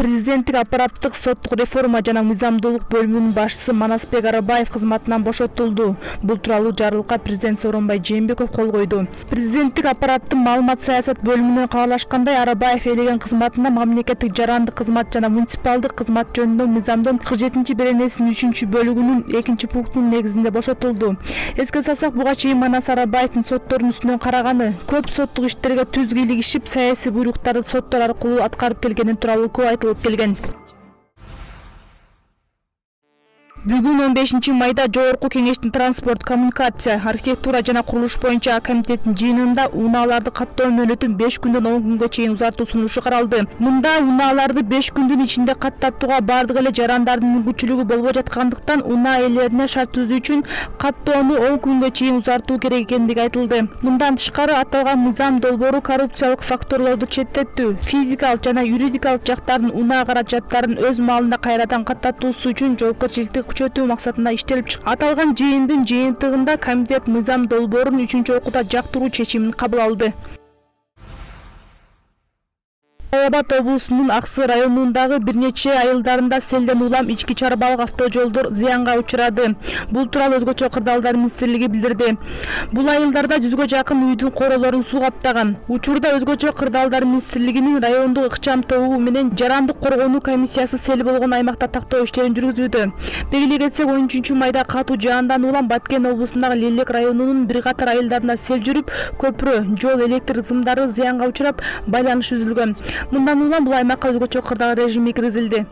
Президенттик аппараттык соттук реформа жана мыйзамдуулук бөлүмүнүн башчысы Манасбек Арабаев кызматынан бошотулду. Бул тууралуу жарлыкка президент Сооронбай Жээнбеков кол койду. Президенттик аппараттын маалымат саясат бөлүмүнөн кабарлашкандай, Арабаев ээлеген кызматына мамлекеттик жарандык кызмат жана муниципалдык кызмат жөнүндө мыйзамдын 47-беренесинин 3-бөлүгүнүн 2-пунктунун негизинде бошотулду. Эске салсак, буга чейин Манас Арабаевдин соттордун үстүнөн караганы, көп соттук иштерге түз кийлигишип, саясий буйруктарды соттор аркылуу аткарып келгени тууралуу көп айтылып келген. Бүгүн 15-майда Жогорку Кеңештин транспорт, коммуникация, архитектура жана курулуш боюнча комитеттин жыйынында унааларды каттоо мөөнөтүн 5 күндөн 10 күнгө чейин узартуу сунушу каралды. Мында унааларды 5 күндүн ичинде каттатууга бардык эле жарандардын мүмкүнчүлүгү болбой жаткандыктан, унаа ээлерине шарт түзүү үчүн каттоону 10 күнгө чейин узартуу керек экендиги айтылды. Мындан тышкары, аталган мыйзам долбоору коррупциялык факторлорду четтетүү, физикалык жана юридикалык жактардын унаа каражаттарын өз маалында кайрадан каттатуусу үчүн жоопкерчиликти күчөтүү максатында иштелип чыкты. Аталган жыйындын жыйынтыгында комитет мыйзам долбоорун 3-окууда жактыруу чечимин кабыл алды. Жалал Абад облусунун Аксы районундагы бир нече айылдарында селден улам ички чарбалык автожолдор зыянга учурады. Бул тууралуу Өзгөчө кырдаалдар министрлиги билдирди. Бул айылдарда 100гө жакын үйдүн королорун суу каптаган. Учурда Өзгөчө кырдаалдар министрлигинин райондук ыкчам тобу менен жарандык коргонуу комиссиясы сел болгон аймакта тактоо иштерин жүргүзүүдө. Белгилей кетсек, 13-майда катуу жаандан улам Баткен облусундагы Лелек районунун бир катар айылдарында сел жүрүп, көпүрө, жол, электр сымдары зыянга учурап, байланыш үзүлгөн. Мындан улам бул аймакка өзгөчө кырдаал режими киргизилди.